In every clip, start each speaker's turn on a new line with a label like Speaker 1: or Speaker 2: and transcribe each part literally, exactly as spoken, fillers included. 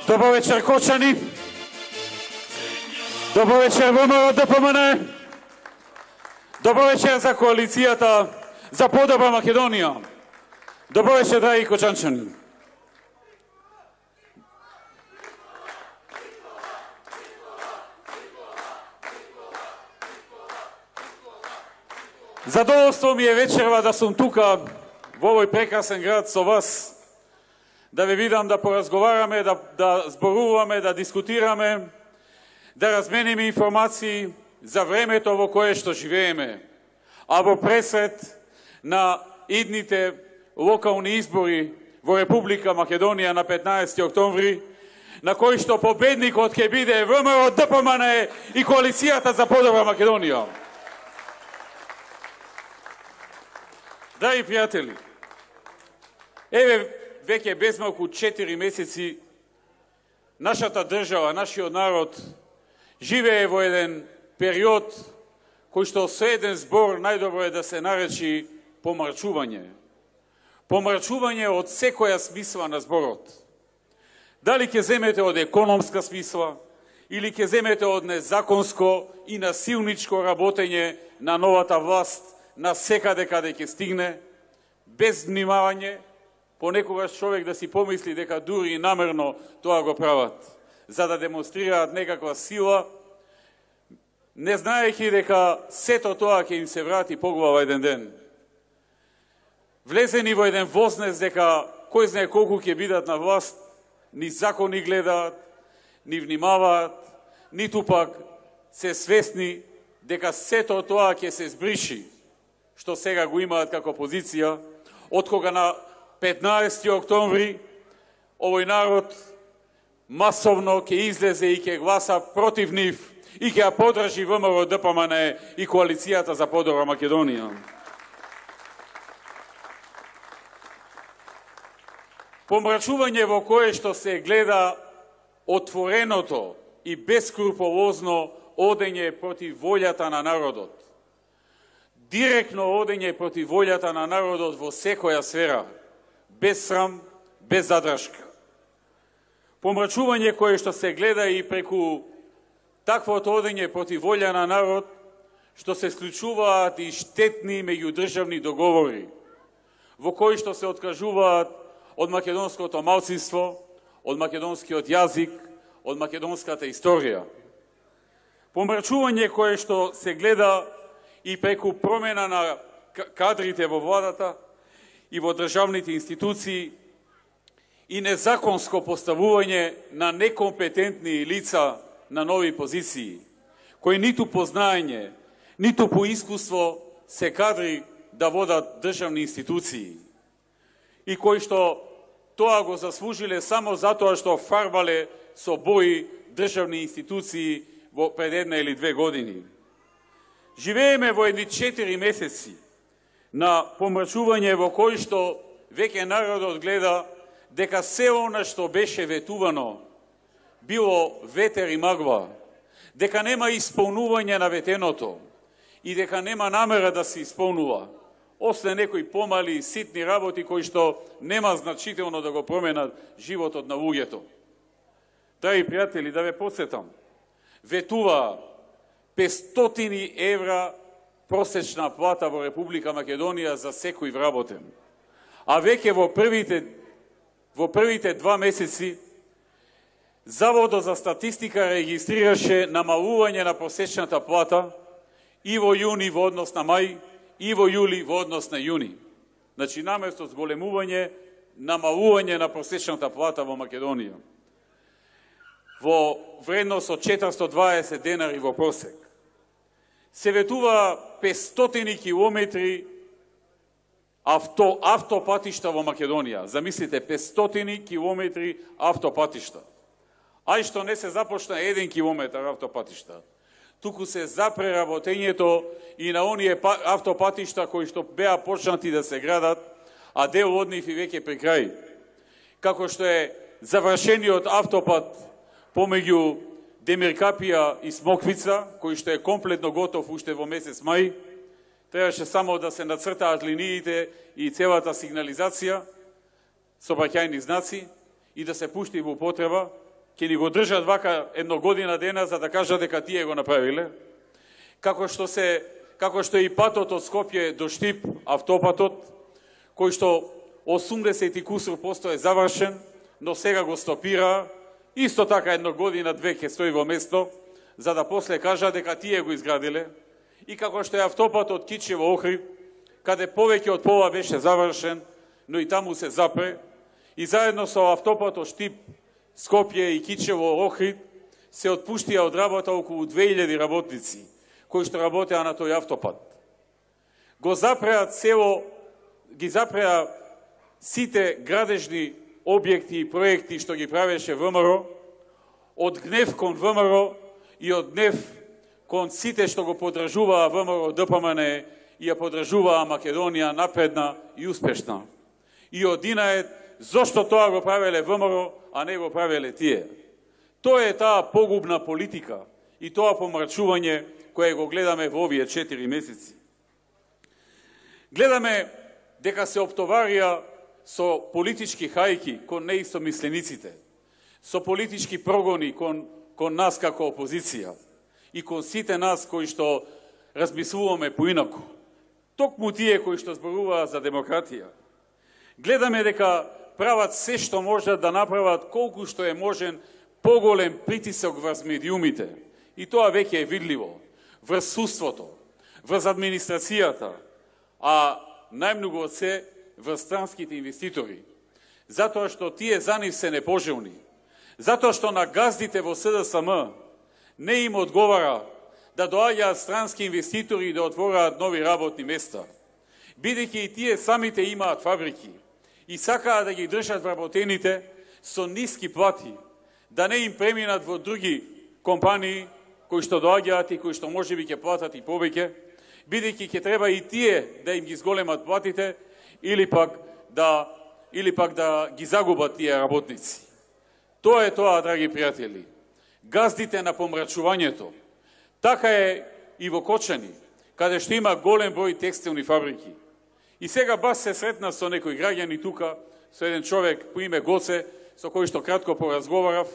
Speaker 1: Добро вечер, Кочани. Добро вечер, ВМРО Д П М Н. Добро вечер за коалицијата за подобра Македонија. Добро вечер, драги кочанчани. Задоволство ми е вечерва да сум тука во овој прекрасен град со вас, да ве видам, да поразговараме, да, да зборуваме, да дискутираме, да размениме информации за времето во кое што живееме, а во пресред на идните локални избори во Република Македонија на петнаесети октомври, на кој што победникот ќе биде ВМРО Д П М Н и коалицијата за подобра Македонија. Драги пријатели, еве веќе безмалку четири месеци нашата држава, нашиот народ живее во еден период кој што со еден збор најдобро е да се наречи помрачување. Помрачување од секоја смисла на зборот. Дали ќе земете од економска смисла, или ќе земете од незаконско и насилничко работење на новата власт на секаде каде ќе стигне, без внимавање, понекогаш човек да си помисли дека дури и намерно тоа го прават, за да демонстрираат некаква сила, не знаејќи дека сето тоа ќе им се врати по глава еден ден. Влезени во еден вознес дека кој знае колку ќе бидат на власт, ни закони гледаат, ни внимаваат, ниту пак се свесни дека сето тоа ќе се збриши, што сега го имаат како позиција, од кога на петнаесети октомври овој народ масовно ќе излезе и ќе гласа против нив и ќе ја подржи ВМРО Д П М Н и коалицијата за подобра Македонија. Помрачување во кое што се гледа отвореното и бескрупулозно одење против волјата на народот. Директно одење против волјата на народот во секоја сфера, без срам, без задршка. Помрачување кое што се гледа и преку таквото одење против волја на народ, што се склучуваат и штетни меѓудржавни договори, во кои што се откажуваат од македонското малцинство, од македонскиот јазик, од македонската историја. Помрачување кое што се гледа и преку промена на кадрите во владата и во државните институции и незаконско поставување на некомпетентни лица на нови позиции, кои ниту по знаење, ниту по искуство се кадри да водат државни институции и кои што тоа го заслужиле само затоа што фарбале со бои државни институции во пред една или две години. Живееме во едни четири месеци на помрачување во кој што веќе народот гледа дека се она што беше ветувано било ветер и магла, дека нема исполнување на ветеното и дека нема намера да се исполнува, освен некои помали ситни работи кои што нема значително да го променат животот на луѓето. Драги пријатели, да ве потсетам, ветува петстотини евра просечна плата во Република Македонија за секој вработен. А веќе во првите, во првите два месеци Заводот за статистика регистрираше намалување на просечната плата и во јуни во однос на мај, и во јули во однос на јуни. Значи, наместо зголемување, намалување на просечната плата во Македонија. Во вредност од четиристотини и дваесет денари во просек. Се ветува петстотини километри авто, автопатишта во Македонија. Замислите, петстотини километри автопатишта. Ај што не се започна еден километар автопатишта, туку се за преработењето и на оние автопатишта кои што беа почнати да се градат, а дел од нив и веќе при крај. Како што е завршениот автопат помеѓу Демиркапија и Смоквица, кој што е комплетно готов уште во месец мај, требаше само да се нацртаат линиите и целата сигнализација, сообраќајни знаци, и да се пушти во употреба, ќе ни го држат вака едно година дена за да кажат дека тие го направиле, како што се како што и патот од Скопје до Штип, автопатот, кој што осумдесет и кусур посто е завршен, но сега го стопира, исто така едно година, две ќе стои во место, за да после кажа дека тие го изградиле, и како што е автопатот Кичево Охрид, каде повеќе од пола беше завршен, но и таму се запре, и заедно со автопатот Штип, Скопје и Кичево Охрид се отпуштија од работа околу две илјади работници, кои што работеа на тој автопат. Го запреа цело, ги запреа сите градежни објекти и проекти што ги правеше ВМРО, од гнев кон ВМРО и од гнев кон сите што го поддржуваа ВМРО ДПМН и ја поддржуваа Македонија напредна и успешна. И од Динает, зошто тоа го правеле ВМРО, а не го правеле тие? Тоа е таа погубна политика и тоа помрачување кое го гледаме во овие четири месеци. Гледаме дека се оптоварија со политички хајки кон неистомислениците, со политички прогони кон, кон нас како опозиција и кон сите нас кои што размислуваме поинаку. Токму тие кои што зборуваат за демократија. Гледаме дека прават се што можат да направат колку што е можен поголем притисок врз медиумите. И тоа веќе е видливо врз судството, врз администрацијата, а најмногу од се врз странските инвеститори. Затоа што тие за нив се непожелни. Затоа што на газдите во СДСМ не им одговара да доаѓаат странски инвеститори и да отвораат нови работни места. Бидејќи и тие самите имаат фабрики и сакаат да ги држат вработените со ниски плати, да не им преминат во други компании кои што доаѓаат и кои што можеби ќе платат и повеќе, бидејќи ќе треба и тие да им ги зголемат платите или пак да или пак да ги загубат тие работници. Тоа е тоа, драги пријатели. Газдите на помрачувањето. Така е и во Кочани, каде што има голем број текстилни фабрики. И сега бас се сретна со некои граѓани тука, со еден човек по име Гоце, со кој што кратко поразговарав,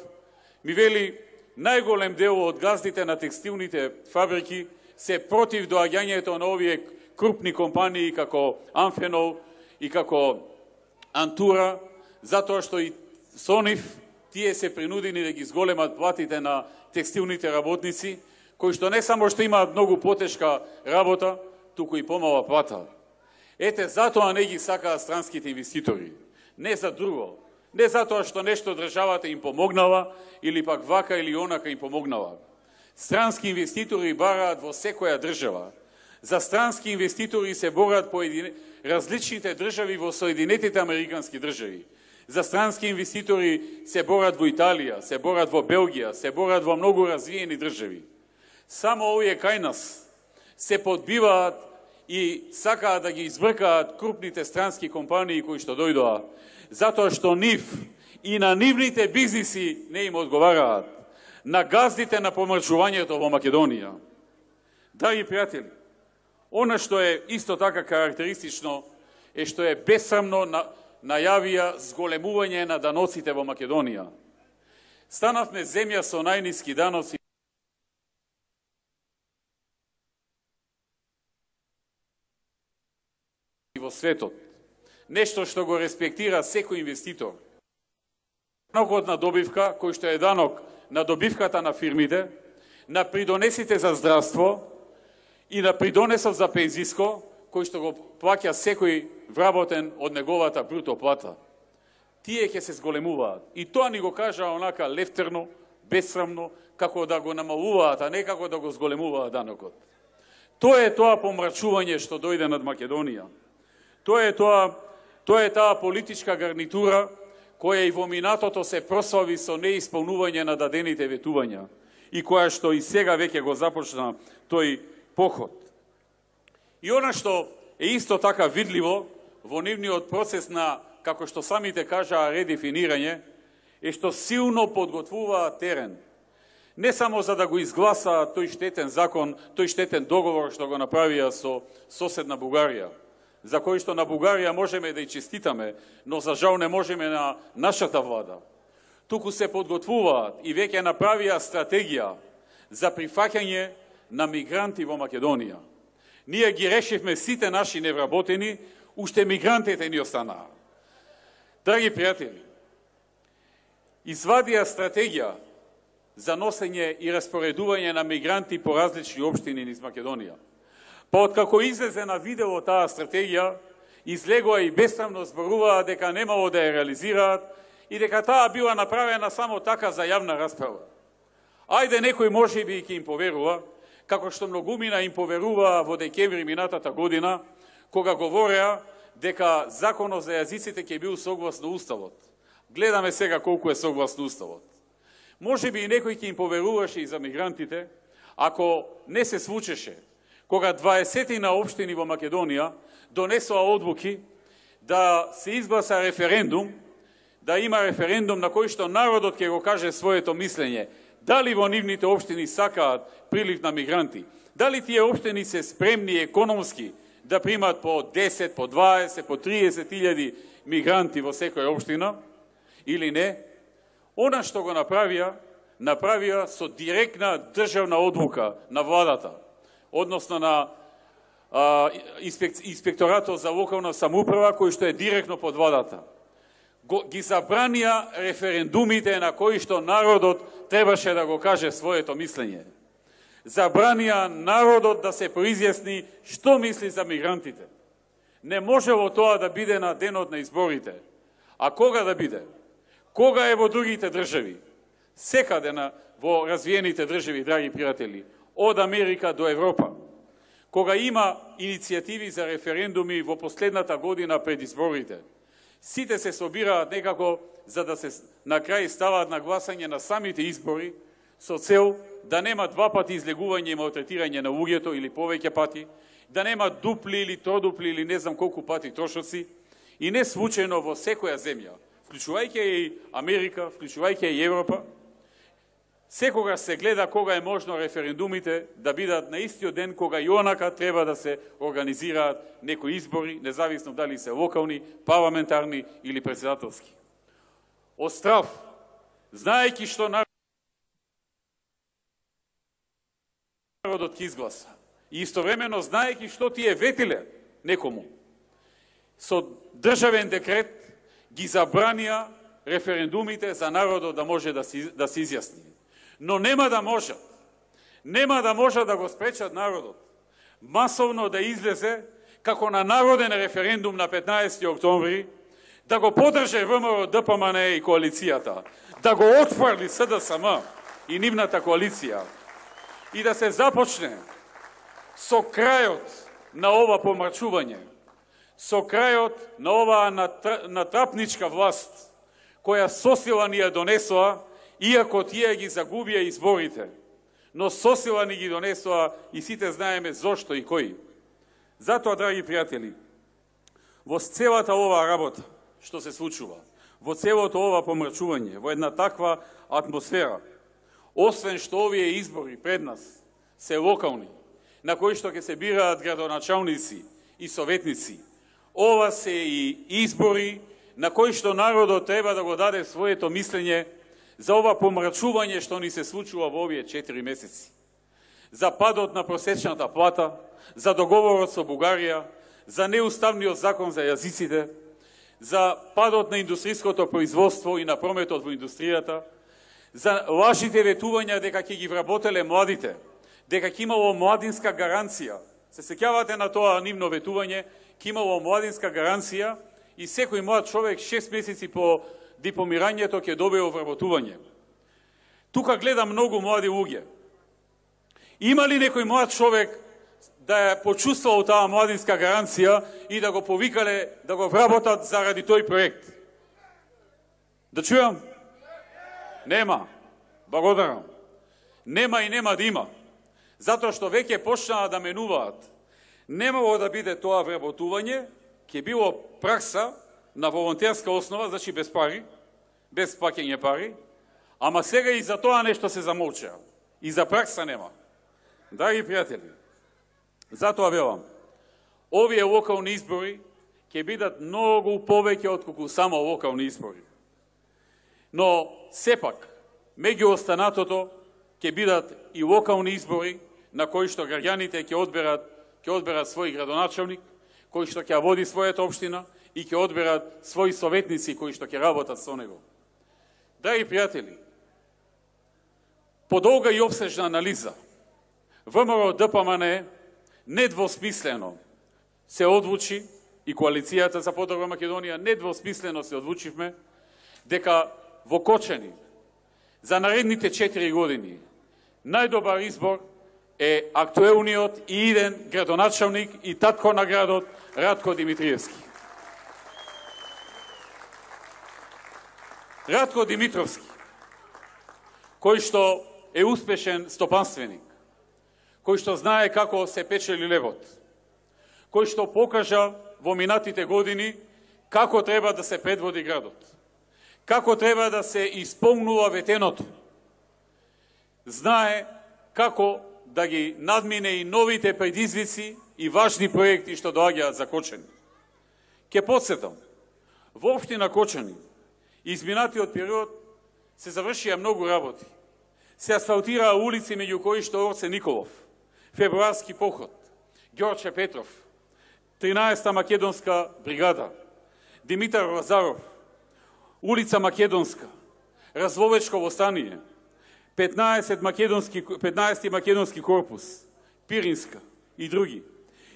Speaker 1: ми вели најголем дел од газдите на текстилните фабрики се против доаѓањето на овие крупни компании како Амфенол и како Антура, затоа што и со нив тие се принудени да ги зголемат платите на текстилните работници, кои што не само што имаат многу потешка работа, туку и помала плата. Ете, затоа не ги сакаат странските инвеститори. Не за друго. Не затоа што нешто државата им помогнала, или пак вака или онака им помогнала. Странски инвеститори бараат во секоја држава. За странски инвеститори се борат по един... различните држави во Соединетите Американски држави. За странски инвеститори се борат во Италија, се борат во Белгија, се борат во многу развиени држави. Само овие кај нас се подбиваат и сакаат да ги избркаат крупните странски компании кои што дојдоа, затоа што нив и на нивните бизниси не им одговараат, на газдите на помрачувањето во Македонија. Драги пријатели, она што е исто така карактеристично е што е бесрамно на, најавија зголемување на даноците во Македонија. Станавме земја со најниски даноци во светот. Нешто што го респектира секој инвеститор. Данокот на добивка, кој што е данок на добивката на фирмите, на придонесите за здравство и на придонесов за пензиско, кој што го плаќа секој вработен од неговата бруто плата. Тие ќе се зголемуваат. И тоа ни го кажа онака лефтерно, бесрамно, како да го намалуваат, а не како да го зголемуваат данокот. Тоа е тоа помрачување што дојде над Македонија. Тоа е тоа, тоа е таа политичка гарнитура која и во минатото се прослави со неисполнување на дадените ветувања и која што и сега веќе го започна тој поход. И она што е исто така видливо во нивниот процес на, како што самите кажаа, редефинирање, е што силно подготвуваат терен. Не само за да го изгласаат тој штетен закон, тој штетен договор што го направија со соседна Бугарија, за кој што на Бугарија можеме да и честитаме, но за жал не можеме на нашата влада. туку се подготвуваат и веќе направија стратегија за прифаќање на мигранти во Македонија. Ние ги решивме сите наши невработени, уште мигрантите ни останаа. Драги пријатели, извадија стратегија за носење и распоредување на мигранти по различни општини низ Македонија. Па откако излезе на видео таа стратегија, излегоа и бесрамно зборуваа дека немало да ја реализираат и дека таа била направена само така за јавна расправа. Ајде некој може би ќе им поверува, како што многумина им поверуваа во декември минатата година, кога говореа дека законот за јазиците ќе бил согласно Уставот. Гледаме сега колку е согласно Уставот. Може би и некој ќе им поверуваше и за мигрантите, ако не се случеше, кога дваесетина општини во Македонија донесоа одлуки да се изгласа референдум, да има референдум на кој што народот ќе го каже своето мислење, дали во нивните општини сакаат прилив на мигранти, дали тие општини се спремни економски да примат по десет, по дваесет, по триесет илјади мигранти во секоја општина, или не. Она што го направија, направија со директна државна одлука на владата, односно на а, инспек, инспекторатот за локална самоуправа, кој што е директно под владата. Го, ги забранија референдумите на кои што народот требаше да го каже своето мислење. Забранија народот да се произјасни што мисли за мигрантите. Не можело тоа да биде на денот на изборите. А кога да биде? Кога е во другите држави? Секаде на, во развиените држави, драги пријатели, од Америка до Европа. Кога има иницијативи за референдуми во последната година пред изборите, сите се собираат некако за да се на крај ставаат на гласање на самите избори со цел да нема два пати излегување и малтретирање на луѓето или повеќе пати, да нема дупли или тродупли или не знам колку пати трошоци, и не случајно во секоја земја, вклучувајќи и Америка, вклучувајќи и Европа, секогаш се гледа кога е можно референдумите да бидат на истиот ден кога и онака треба да се организираат некои избори, независно дали се локални, парламентарни или председателски. Од страв, знаејќи што народот ќе изгласа и истовремено знаејќи што тие ветиле некому, со државен декрет ги забранија референдумите за народот да може да се, да се изјасни. Но нема да можат, нема да можат да го спречат народот масовно да излезе како на народен референдум на петнаесети октомври, да го подрже ВМРО, ДПМН и коалицијата, да го отфрли СДСМ и нивната коалиција и да се започне со крајот на ова помрачување, со крајот на оваа натрапничка власт, која сосила ни ја донесоа, иако тие ги загубија изборите, но сосила ни ги донесоа и сите знаеме зошто и кој. Затоа, драги пријатели, во целата оваа работа што се случува, во целото ова помрачување, во една таква атмосфера, освен што овие избори пред нас се локални, на кои што ќе се бираат градоначалници и советници, ова се и избори на кои што народот треба да го даде своето мислење за ова помрачување што ни се случува во овие четири месеци. За падот на просечната плата, за договорот со Бугарија, за неуставниот закон за јазиците, за падот на индустриското производство и на прометот во индустријата, за лажите ветувања дека ќе ги вработеле младите, дека ќе имало младинска гаранција. Се сеќавате на тоа нивно ветување, ќе имало младинска гаранција и секој млад човек шест месеци по дипломирањето ќе добие вработување. Тука гледам многу млади луѓе. Има ли некој млад човек да ја почувствувал таа младинска гаранција и да го повикале да го вработат заради тој проект? Да чујам? Нема. Благодарам. Нема и нема да има. Затоа што веќе почнаа да менуваат. Немало да биде тоа вработување, ќе било пракса на волонтерска основа, значи без пари, без плаќање пари, ама сега и за тоа нешто се замолча. И за пракса нема. Драги пријатели, затоа велам, овие локални избори ќе бидат многу повеќе отколку само локални избори. Но сепак, меѓу останатото ќе бидат и локални избори на кои што граѓаните ќе одберат, ќе одберат свој градоначалник, кој што ќе води својата општина и ќе одберат своји советници кои што ќе работат со него. Драги пријатели, по долга и обсежна анализа, ВМРО Д П М Н недвосмислено се одлучи и коалицијата за подобра Македонија недвосмислено се одлучивме дека во Кочани за наредните четири години најдобар избор е актуелниот и иден градоначалник и татко на градот Радко Димитриевски. Радко Димитровски, кој што е успешен стопанственик, кој што знае како се печели левот, кој што покажа во минатите години како треба да се предводи градот, како треба да се исполнува ветеното, знае како да ги надмине и новите предизвици и важни проекти што доаѓаат за Кочани. Ке подсетам, во општина Кочани изминатиот период се завршија многу работи. Се асфалтираа улици меѓу кои што Орце Николов, Февруарски поход, Ѓорче Петров, тринаесета македонска бригада, Димитар Лазаров, улица Македонска, Развовечко востание, петнаесет македонски, петнаесети македонски корпус, Пиринска и други.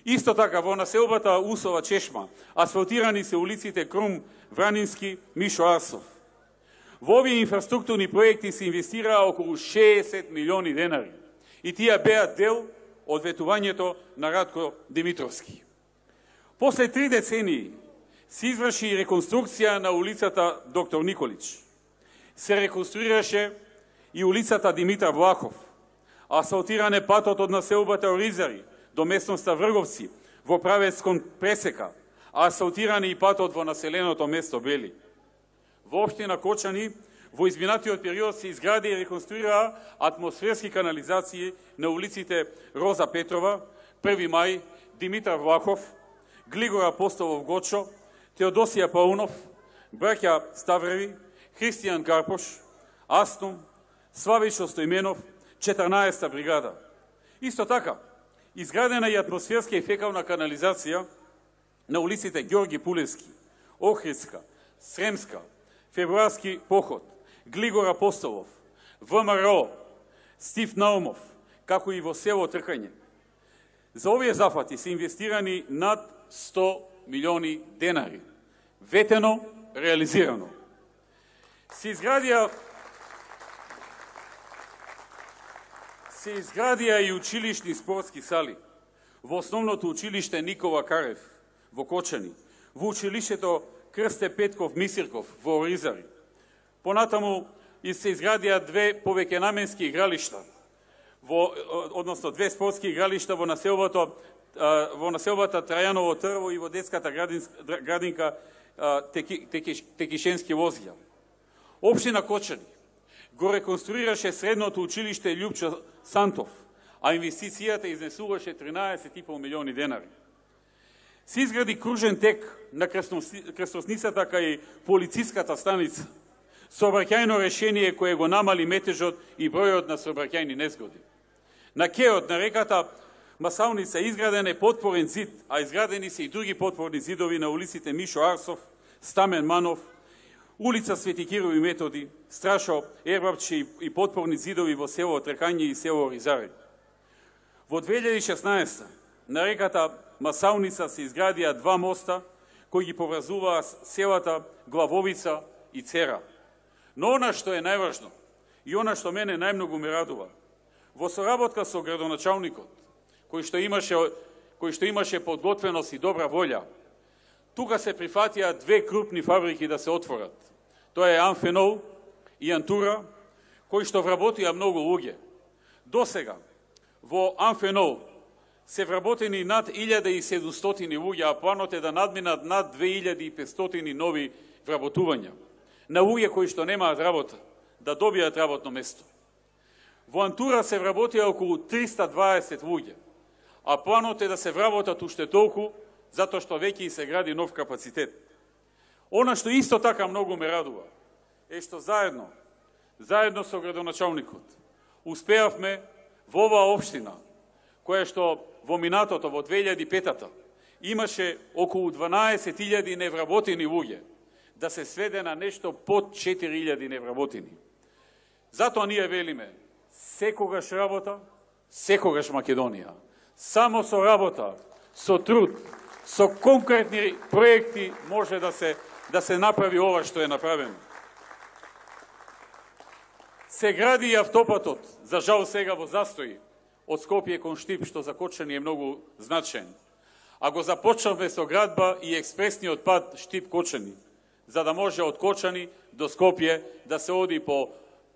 Speaker 1: Исто така во населбата Усова Чешма асфалтирани се улиците Крум, Вранински, Мишо Арсов. Во овие инфраструктурни проекти се инвестираа околу шеесет милиони денари и тие беа дел од ветувањето на Радко Димитровски. После три децении се изврши реконструкција на улицата Доктор Николич. Се реконструираше и улицата Димитар Влахов, асфалтиране патот од населбата Оризари до местноста Врговци во правец кон Пресека, а асфалтиране и патот во населеното место Бели. Во општина Кочани во изминатиот период се изгради и реконструираа атмосферски канализации на улиците Роза Петрова, Први мај, Димитар Влахов, Глигор Апостолов Гочо, Теодосија Паунов, браќа Ставреви, Христијан Карпош, Астум, Славичо Стојменов, четрнаесета бригада. Исто така, изградена и атмосферска и фекална канализација на улиците Ѓорги Пулевски, Охридска, Сремска, Февруарски поход, Глигор Апостолов, В М Р О, Стив Наумов, како и во село Тркање. За овие зафати се инвестирани над сто милиони денари. Ветено, реализирано. Се изградија се изградија и училишни спортски сали во основното училиште Никола Карев во Кочани, во училиштето Крсте Петков Мисирков во Оризари. Понатаму и се изградија две повеќенаменски игралишта, во, односно две спортски игралишта во населбата во населбата Трајаново Трво и во детската градинка Теки, Теки, Текишенски Лозија. Општина Кочани го реконструираше средното училиште Љупчо Сантов, а инвестицијата изнесуваше тринаесет и пол милиони денари. Се изгради кружен тек на крстосницата кај полициската станица, сообраќајно решение кое го намали метежот и бројот на сообраќајни незгоди. На кеот на реката Масалница изграден е подпорен зид, а изградени се и други подпорни зидови на улиците Мишо Арсов, Стамен Манов, улица Свети Кирил и Методи, Страшо Ербапче и подпорни зидови во село Тркање и село Оризари. Во две илјади и шеснаесета на реката Масалница се изградија два моста кои ги поврзуваа селата Главовица и Цера. Но она што е најважно и она што мене најмногу ме радува, во соработка со градоначалникот, кој што имаше кој што имаше подготвеност и добра волја, тука се прифатија две крупни фабрики да се отворат. Тоа е Амфенол и Антура, кои што вработија многу луѓе. Досега во Амфенол се вработени над илјада и седумстотини луѓе, а планот е да надминат над две илјади и петстотини нови вработувања на луѓе кои што немаат работа, да добијат работно место. Во Антура се вработија околу триста дваесет луѓе, а планот е да се вработат уште толку, затоа што веќе и се гради нов капацитет. Она што исто така многу ме радува, е што заедно, заедно со градоначалникот, успеавме во оваа општина, која што во минатото, во две илјади и петата, имаше околу дванаесет илјади невработени луѓе, да се сведе на нешто под четири илјади невработени. Затоа ние велиме, секогаш работа, секогаш Македонија. Само со работа, со труд, со конкретни проекти може да се да се направи ова што е направено. Се гради и автопатот, за жал сега во застои, од Скопје кон Штип, што за Кочани е многу значен. А го започнавме со градба и експресниот пат Штип-Кочани, за да може од Кочани до Скопје да се оди по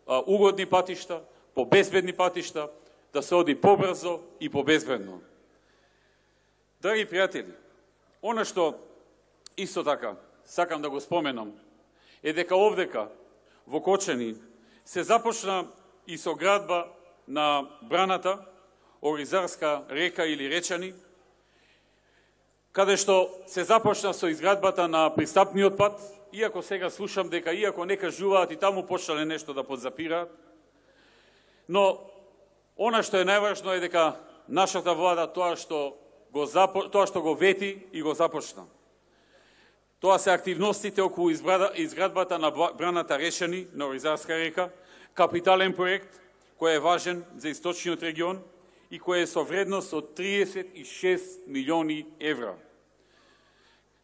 Speaker 1: а, угодни патишта, по безбедни патишта, да се оди побрзо и побезбедно. Драги пријатели, она што исто така сакам да го споменам е дека овдека во Кочани се започна и со градба на браната Оризарска река или Речани, каде што се започна со изградбата на пристапниот пат, иако сега слушам дека иако не кажуваат и таму почнале нешто да подзапираат, но она што е најважно е дека нашата влада тоа што го запо... тоа што го вети и го започна. Тоа се активностите околу изградбата на браната Решани на Оризарска река, капитален проект кој е важен за источниот регион и кој е со вредност од триесет и шест милиони евра.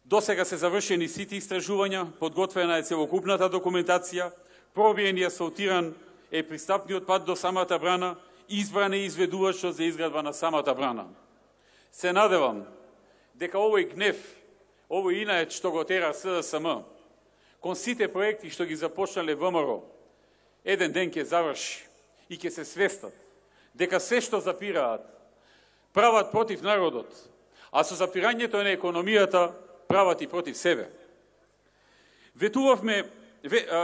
Speaker 1: Досега се завршени сите истражувања, подготвена е целокупната документација, пробиен и асфалтиран е пристапниот пат до самата брана, избран е изведувачот за изградба на самата брана. Се надевам дека овој гнев, овој инает што го тера СДСМ, кон сите проекти што ги започнале ВМРО, еден ден ќе заврши и ќе се свестат дека се што запираат прават против народот, а со запирањето на економијата прават и против себе. Ветувавме,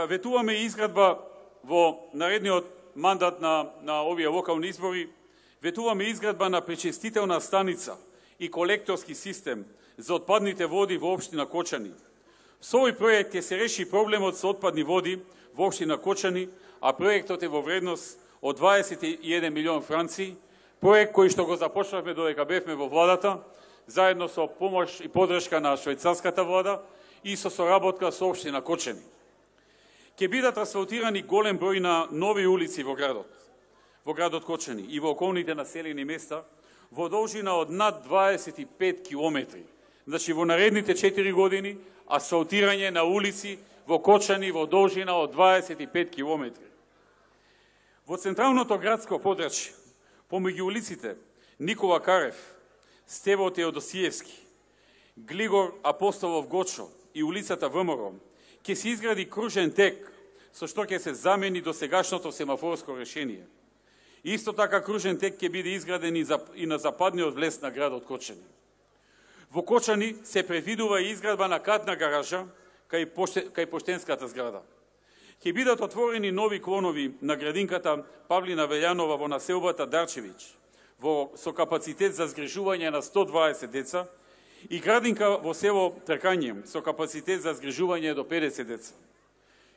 Speaker 1: ветуваме изградба во наредниот мандат на, на овие локални избори, ветуваме изградба на пречистителна станица и колекторски систем за отпадните води во општина Кочани. Со овој проект ќе се реши проблемот со отпадни води во општина Кочани, а проектот е во вредност од дваесет и еден милион франци, проект кој што го започнавме додека бевме во владата, заедно со помош и подршка на швајцарската влада и со соработка со општина Кочани. Ќе бидат асфалтирани голем број на нови улици во градот, во градот Кочани и во околните населени места, во должина од над дваесет и пет километри. Значи, во наредните четири години, асфалтирање на улици во Кочани во должина од дваесет и пет километри. Во централното градско подрачје, помеѓу улиците Никола Карев, Стево Теодосиевски, Глигор Апостолов Гочо и улицата ВМРО, ќе се изгради кружен тек, со што ќе се замени досегашното семафорско решение. Исто така кружен тек ќе биде изграден и, за, и на западниот влез на градот Кочани. Во Кочани се предвидува и изградба на катна гаража кај, поште, кај поштенската зграда. Ќе бидат отворени нови клонови на градинката Павлина Велјанова во населбата Дарчевич, во, со капацитет за згрижување на сто дваесет деца, и градинка во село Тркање со капацитет за згрижување до педесет деца.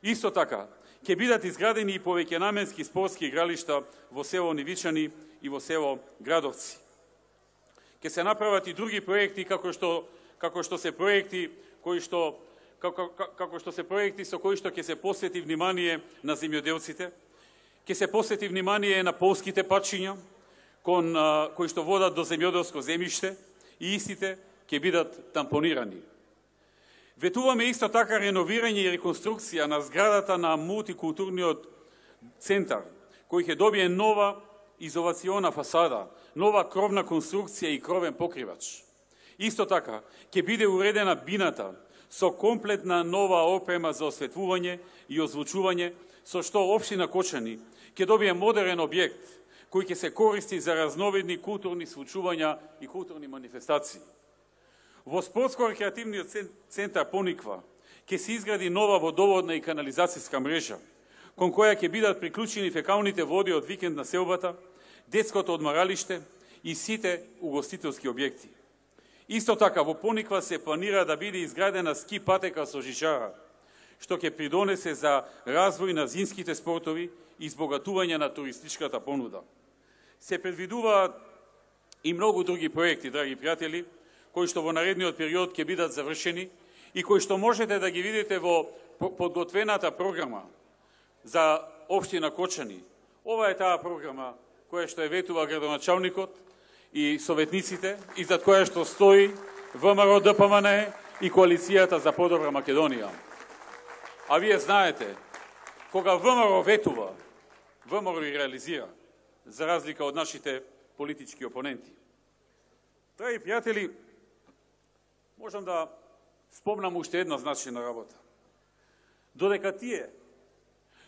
Speaker 1: Исто така, ќе бидат изградени и повеќенаменски спортски игралишта во село Нивичани и во село Градовци. Ќе се направат и други проекти, како што, како што се проекти кои што Како, како што се проекти со кои што ќе се посвети внимание на земјоделците, ќе се посвети внимание на полските патчиња, кон, а, кои што водат до земјоделско земјиште и истите ќе бидат тампонирани. Ветуваме исто така реновирање и реконструкција на зградата на мултикултурниот центар, кој ќе добие нова изолациона фасада, нова кровна конструкција и кровен покривач. Исто така ќе биде уредена бината со комплетна нова опрема за осветлување и озвучување, со што општина Кочани ќе добие модерен објект кој ќе се користи за разновидни културни случувања и културни манифестации. Во спортско-рекреативниот центар Пониква ќе се изгради нова водоводна и канализацијска мрежа, кон која ќе бидат приклучени фекалните води од викенд населбата, детското одмаралиште и сите угостителски објекти. Исто така, во Пониква се планира да биде изградена ски патека со жичара, што ќе придонесе за развој на зимските спортови и избогатување на туристичката понуда. Се предвидуваат и многу други проекти, драги пријатели, кои што во наредниот период ќе бидат завршени и кои што можете да ги видите во подготвената програма за општина Кочани. Ова е таа програма која што е ветува градоначалникот и советниците и зад која што стои ВМРО Д П М Н и Коалицијата за подобра Македонија. А вие знаете, кога ВМРО ветува, ВМРО и реализира, за разлика од нашите политички опоненти. Драги пријатели, можам да спомнам уште една значајна работа. Додека тие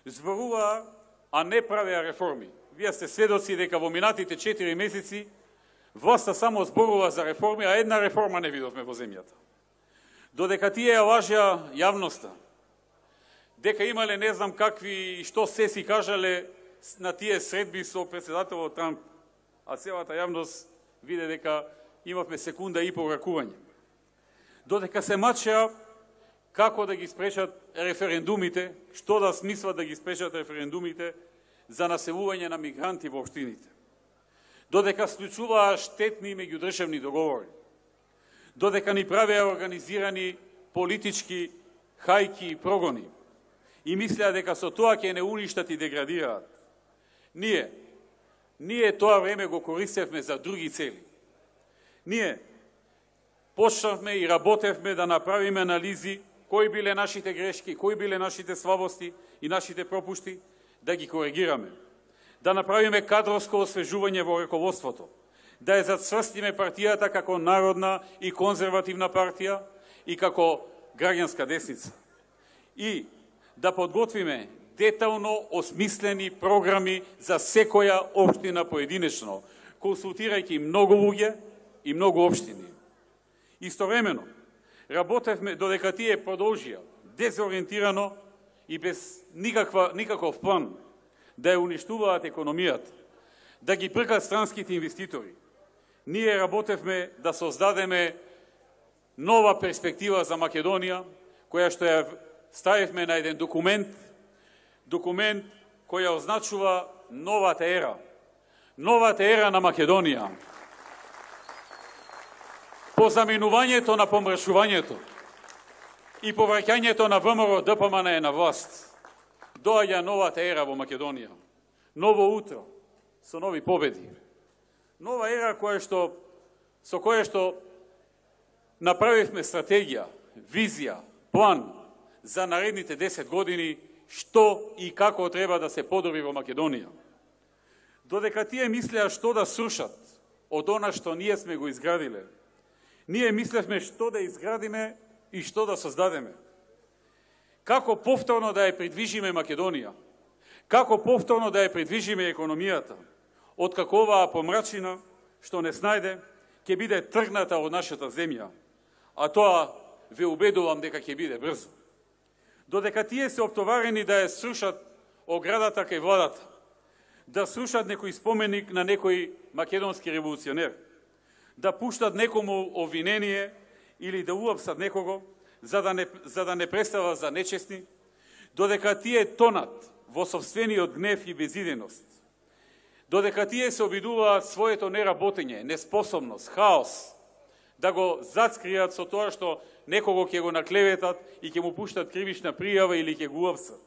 Speaker 1: зборуваа, а не правеа реформи. Вие сте сведоци дека во минатите четири месеци власта само зборува за реформи, а една реформа не видовме во земјата. Додека тие ја лажеа јавноста, дека имале не знам какви и што се си кажале на тие средби со председателот Трамп, а целата јавност виде дека имавме секунда и по ракување. Додека се мачеа како да ги спречат референдумите, што да смислат да ги спречат референдумите за населување на мигранти во општините. Додека склучуваа штетни меѓудржавни договори. Додека ни правеа организирани политички хајки и прогони и мислеа дека со тоа ќе не уништат и деградираат. Ние, ние тоа време го користевме за други цели. Ние почнавме и работевме да направиме анализи кои биле нашите грешки, кои биле нашите слабости и нашите пропушти, да ги коригираме. Да направиме кадровско освежување во раководството, да ја зацврстиме партијата како народна и конзервативна партија и како граѓанска десница. И да подготвиме детално осмислени програми за секоја општина поединечно, консултирајќи многу луѓе и многу општини. Истовремено, работевме додека тие продолжија дезориентирано и без никаква, никаков план да ја уништуваат економијата, да ги пркат странските инвеститори. Ние работевме да создадеме нова перспектива за Македонија, која што ја ставивме на еден документ, документ која означува новата ера. Новата ера на Македонија. По заменувањето на помршувањето и повраќањето на ВМРО Д П М Н на власт, доаѓа новата ера во Македонија. Ново утро, со нови победи. Нова ера која што, со која што направивме стратегија, визија, план за наредните десет години, што и како треба да се подобри во Македонија. Додека тие мислеа што да срушат од она што ние сме го изградиле, ние мислевме што да изградиме и што да создадеме. Како повторно да ја придвижиме Македонија, како повторно да ја придвижиме економијата, откако оваа помрачина, што не снајде, ќе биде тргната од нашата земја, а тоа ве убедувам дека ќе биде брзо. Додека тие се оптоварени да ја срушат оградата кај владата, да срушат некој споменик на некој македонски револуционер, да пуштат некому обвинение или да уапсат некого, за да не, за да не представа за нечестни, додека тие тонат во собствениот гнев и безиденост, додека тие се обидуваат своето неработење, неспособност, хаос, да го зацкријат со тоа што некого ќе го наклеветат и ќе му пуштат кривична пријава или ќе го уапсат.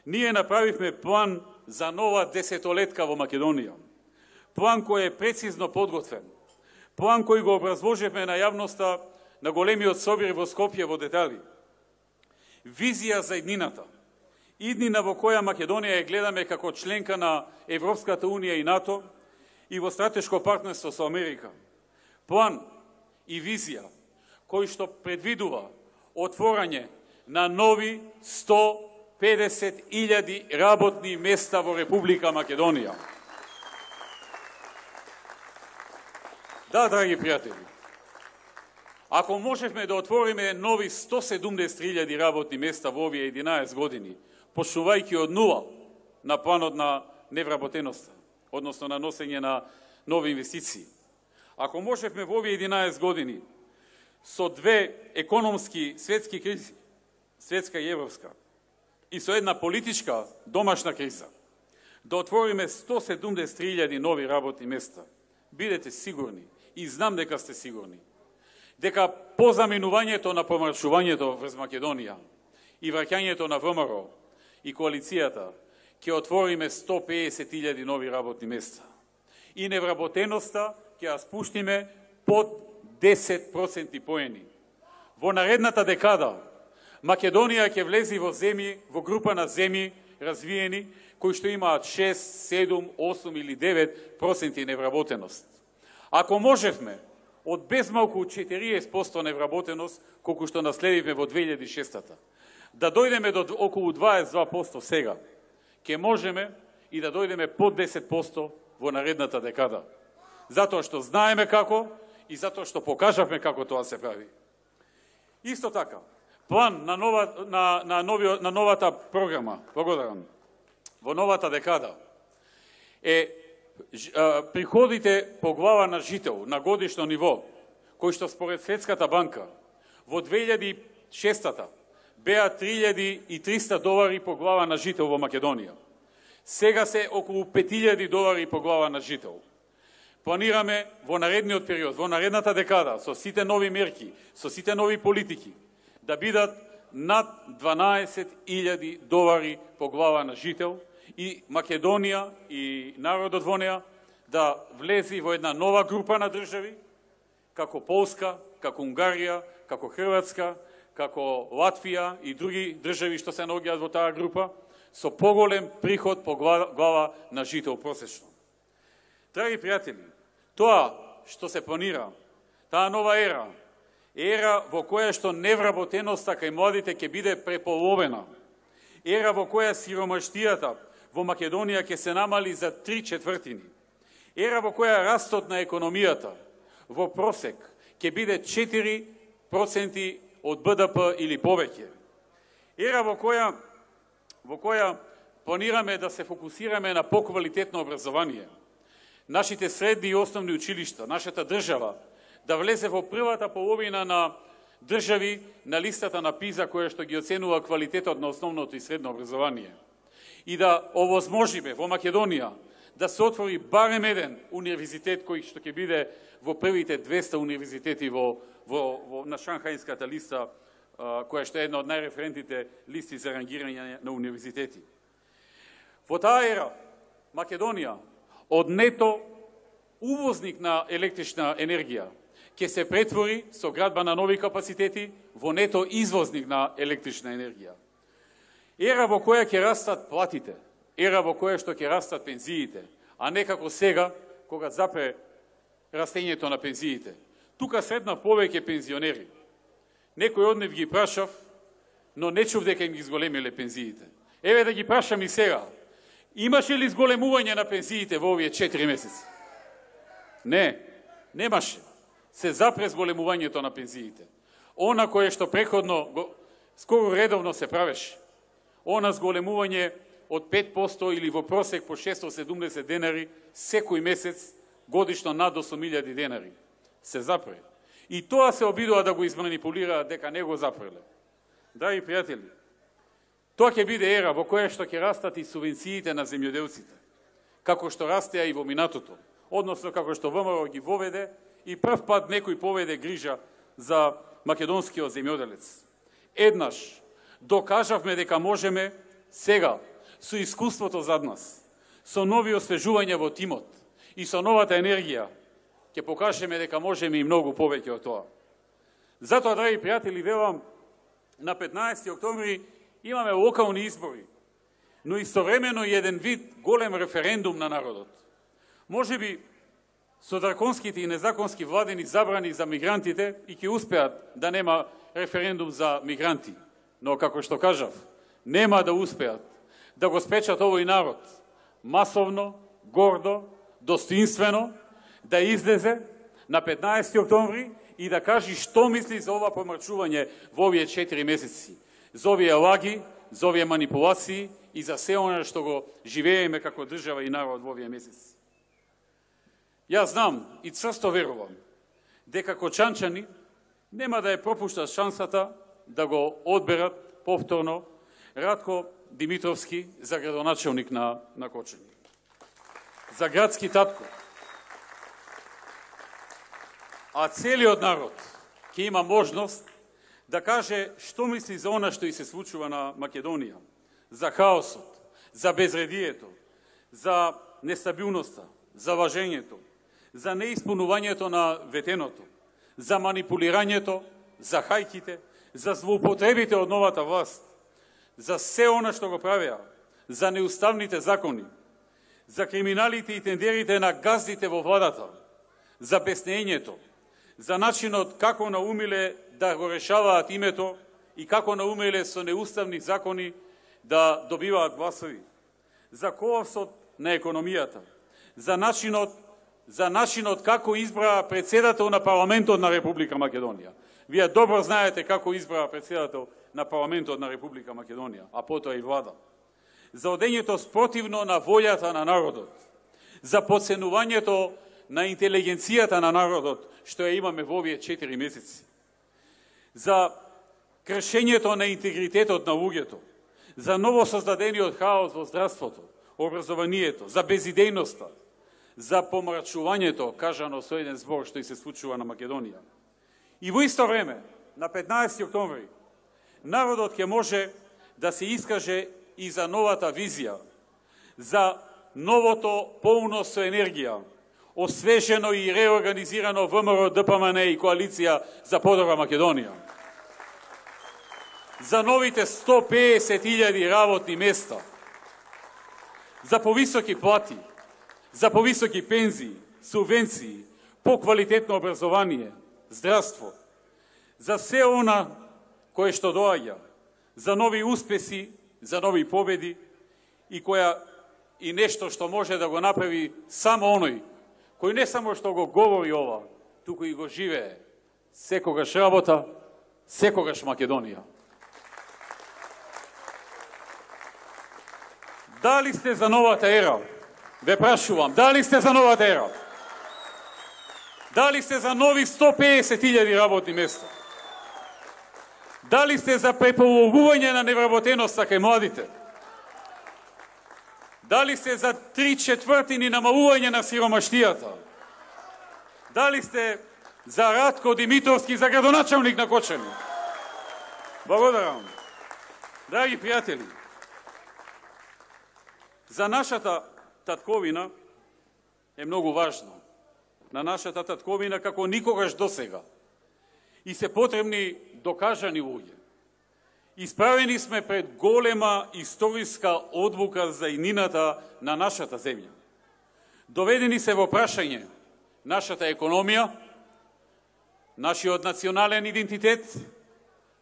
Speaker 1: Ние направивме план за нова десетолетка во Македонија. План кој е прецизно подготвен. План кој го образложивме на јавноста на големиот собир во Скопје во детали. Визија за иднината. Иднина во која Македонија ја гледаме како членка на Европската унија и НАТО и во стратешко партнерство со Америка. План и визија кој што предвидува отворање на нови сто педесет илјади работни места во Република Македонија. Да, драги пријатели, ако можевме да отвориме нови сто седумдесет илјади работни места во овие единаесет години, почнувајќи од нула на планот на невработеноста, односно на носење на нови инвестиции, ако можевме во овие единаесет години со две економски светски кризи светска и европска, и со една политичка домашна криза, да отвориме сто седумдесет три илјади нови работни места. Бидете сигурни, и знам дека сте сигурни, дека по заминувањето на помрачувањето врз Македонија и враќањето на ВМРО и коалицијата ќе отвориме сто педесет илјади нови работни места. И невработеноста ќе ја спуштиме под десет проценти поени. Во наредната декада Македонија ќе влези во земји, во група на земји развиени, кои што имаат шест, седум, осум или девет проценти невработеност. Ако можевме од безмалку четириесет проценти невработеност, колку што наследивме во две илјади и шеста, да дојдеме до околу дваесет и два проценти сега, ќе можеме и да дојдеме под десет проценти во наредната декада. Затоа што знаеме како и затоа што покажавме како тоа се прави. Исто така, план на, нова, на, на, нови, на новата програма, благодарам, во новата декада е приходите по глава на жител на годишно ниво, кои што според Светската банка во две илјади и шеста беа три илјади и триста долари по глава на жител во Македонија. Сега се околу пет илјади долари по глава на жител. Планираме во наредниот период, во наредната декада, со сите нови мерки, со сите нови политики, да бидат над дванаесет илјади долари по глава на жител и Македонија и народот во неа да влези во една нова група на држави, како Полска, како Унгарија, како Хрватска, како Латвија и други држави што се наоѓаат во таа група, со поголем приход по глава на жител просечно. Драги пријатели, тоа што се планира, таа нова ера, ера во која што невработеноста кај младите ќе биде преполовена, ера во која сиромаштијата во Македонија ќе се намали за три четвртини, ера во која растот на економијата во просек ќе биде четири проценти од Б Д П или повеќе, ера во која во која планираме да се фокусираме на поквалитетно образование, нашите средни и основни училишта, нашата држава, да влезе во првата половина на држави на листата на ПИЗа, која што ги оценува квалитетот на основното и средно образование. И да овозможиме во Македонија да се отвори барем еден универзитет кој што ќе биде во првите двеста универзитети во, во, во на Шанхајската листа, која што е една од најреферентните листи за рангирање на универзитети. Во таа ера, Македонија, од нето увозник на електрична енергија, ќе се претвори со градба на нови капацитети во нето извозник на електрична енергија. Ера во која ќе растат платите, ера во која што ќе растат пензиите, а не како сега, кога запре растењето на пензиите. Тука среднав повеќе пензионери. Некој од нив ги прашав, но не чув дека им ги зголемиле пензиите. Еве да ги прашам и сега. Имаше ли зголемување на пензиите во овие четири месеци? Не, немаше. Се запре зголемувањето на пензиите. Она кое што преходно, скоро редовно се правеше, она зголемување од пет проценти или во просек по шестстотини и седумдесет денари секој месец, годишно над осум илјади денари, се запре. И тоа се обидува да го изманипулираат дека не го запреле. Драги пријатели, тоа ќе биде ера во која што ќе растат и субвенциите на земјоделците, како што растеа и во минатото, односно како што ВМРО ги воведе и прв пат некој поведе грижа за македонскиот земјоделец. Еднаш докажавме дека можеме сега, со искуството зад нас, со нови освежувања во тимот и со новата енергија, ќе покажеме дека можеме и многу повеќе од тоа. Затоа, драги пријатели, велам, на петнаесети октомври имаме локални избори, но истовремено и еден вид голем референдум на народот. Може би со драконските и незаконски владени забрани за мигрантите и ќе успеат да нема референдум за мигранти, но како што кажав, нема да успеат да го спечат овој народ масовно, гордо, достоинствено, да излезе на петнаесети октомври и да кажи што мисли за ова помрачување во овие четири месеци, за овие лаги, за овие манипулации и за се оно што го живееме како држава и народ во овие месеци. Јас знам и црсто верувам дека кочанчани нема да ја пропуштат шансата да го одберат повторно Радко Димитровски за градоначелник на, на Кочани. За градски татко. А целиот народ ќе има можност да каже што мисли за она што и се случува на Македонија, за хаосот, за безредието, за нестабилноста, за лажењето, за неисполнувањето на ветеното, за манипулирањето, за хајките, за злоупотребите од новата власт, за се она што го правеа, за неуставните закони, за криминалите и тендерите на газдите во владата, за беснењето, за начинот како наумиле да го решаваат името и како наумиле со неуставни закони да добиваат гласови, за колапсот на економијата, за начинот, за начинот како избраа председател на парламентот на Република Македонија. Вие добро знаете како избраа председател на парламентот на Република Македонија, а потоа и влада. За одењето спротивно на волјата на народот, за подценувањето на интелигенцијата на народот, што ја имаме во овие четири месеци, за кршењето на интегритетот на луѓето, за новосоздадениот хаос во здравството, образованието, за безидејноста, за помрачувањето, кажано со еден збор што и се случува на Македонија. И во исто време, на петнаесети октомври, народот ќе може да се искаже и за новата визија, за новото полно со енергија, освежено и реорганизирано ВМРО, ДПМН и Коалиција за подобра Македонија. За новите сто песет илјади работни места, за повисоки плати, за повисоки пензии, субвенции, поквалитетно образование, здравство, за се она кое што доаѓа, за нови успеси, за нови победи и која и нешто што може да го направи само оној кој не само што го говори ова, туку и го живее. Секогаш работа, секогаш Македонија. Дали сте за новата ера? Ве прашувам, дали сте за новата ера? Дали сте за нови сто песет илјади работни места? Дали сте за преполовување на невработеноста кај младите? Дали сте за три четвртини намалување на сиромаштијата? Дали сте за Радко Димитровски за градоначелник на Кочани? Благодарам. Драги пријатели, за нашата татковина е многу важно. На нашата татковина како никогаш досега. И се потребни докажани луѓе. Исправени сме пред голема историска одлука за иднината на нашата земја. Доведени се во прашање нашата економија, нашиот национален идентитет,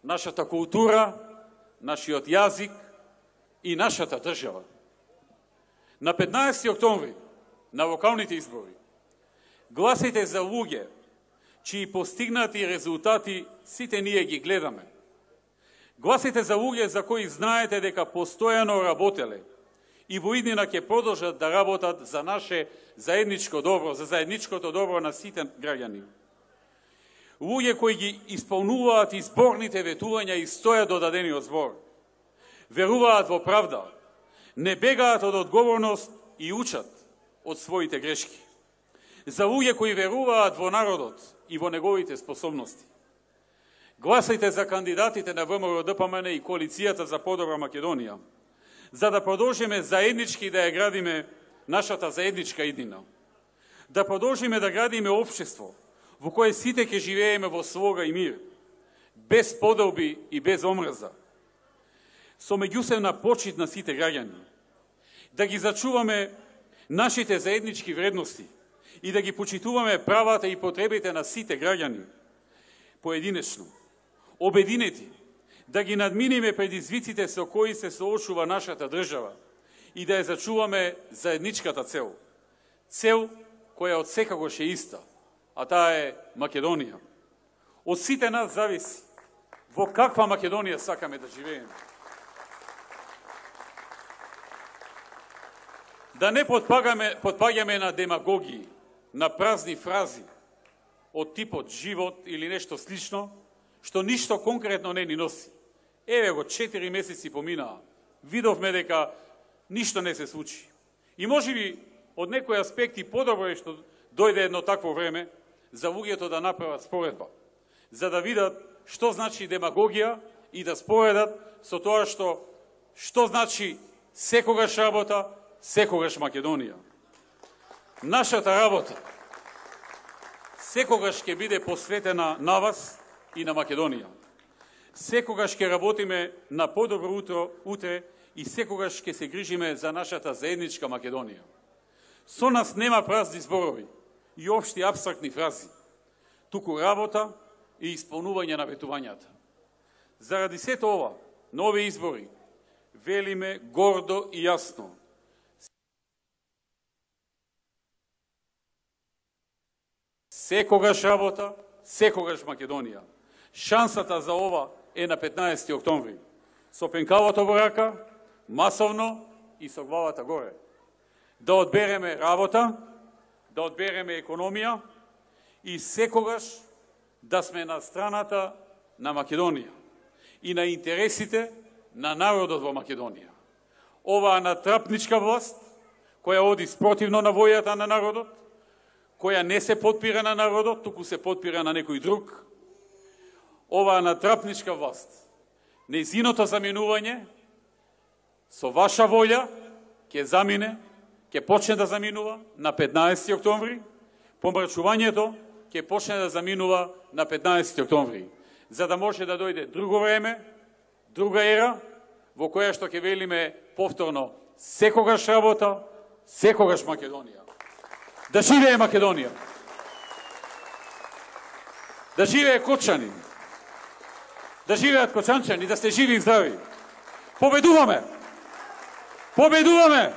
Speaker 1: нашата култура, нашиот јазик и нашата држава. На петнаесети октомври, на локалните избори, гласите за луѓе чии постигнати резултати сите ние ги гледаме. Гласите за луѓе за кои знаете дека постојано работеле и во иднина ќе продолжат да работат за наше заедничко добро, за заедничкото добро на сите граѓани. Луѓе кои ги исполнуваат изборните ветувања и стојат до дадениот збор. Веруваат во правда, не бегаат од одговорност и учат од своите грешки. За луѓе кои веруваат во народот и во неговите способности. Гласајте за кандидатите на ВМРО, ДПМН и Коалицијата за подобра Македонија, за да продолжиме заеднички да ја градиме нашата заедничка иднина. Да продолжиме да градиме општество во кое сите ќе живееме во слога и мир, без поделби и без омрза, со меѓусебна почит на сите граѓани, да ги зачуваме нашите заеднички вредности и да ги почитуваме правата и потребите на сите граѓани, поединечно, обединети, да ги надминиме предизвиците со кои се соочува нашата држава и да ја зачуваме заедничката цел. Цел која од секогаш е иста, а таа е Македонија. Од сите нас зависи во каква Македонија сакаме да живееме. Да не подпагаме, подпаѓаме на демагогии, на празни фрази од типот живот или нешто слично, што ништо конкретно не ни носи. Еве го, четири месеци поминаа. Видовме дека ништо не се случи. И можеби од некои аспекти подобро е што дојде едно такво време за луѓето да направат споредба, за да видат што значи демагогија и да споредат со тоа што што значи секогаш работа, секогаш Македонија. Нашата работа секогаш ќе биде посветена на вас и на Македонија. Секогаш ќе работиме на подобро утро утре и секогаш ќе се грижиме за нашата заедничка Македонија. Со нас нема празни зборови и општи апстрактни фрази, туку работа и исполнување на ветувањата. Заради сето ова, на овие избори, велиме гордо и јасно: секогаш работа, секогаш Македонија. Шансата за ова е на петнаесети октомври. Со пенкавото во рака, масовно и со главата горе. Да одбереме работа, да одбереме економија и секогаш да сме на страната на Македонија и на интересите на народот во Македонија. Оваа натрапничка власт, која оди спротивно на војата на народот, која не се подпира на народот, туку се подпира на некој друг, оваа натрапничка власт, нејзиното заминување со ваша волја ќе замине, ќе почне да заминува на петнаесети октомври, помрачувањето ќе почне да заминува на петнаесети октомври, за да може да дојде друго време, друга ера, во која што ќе велиме повторно: секогаш работа, секогаш Македонија. Да живее Македонија! Да живее Кочани! Да живеат кочанчани, да сте живи и здрави! Победуваме! Победуваме!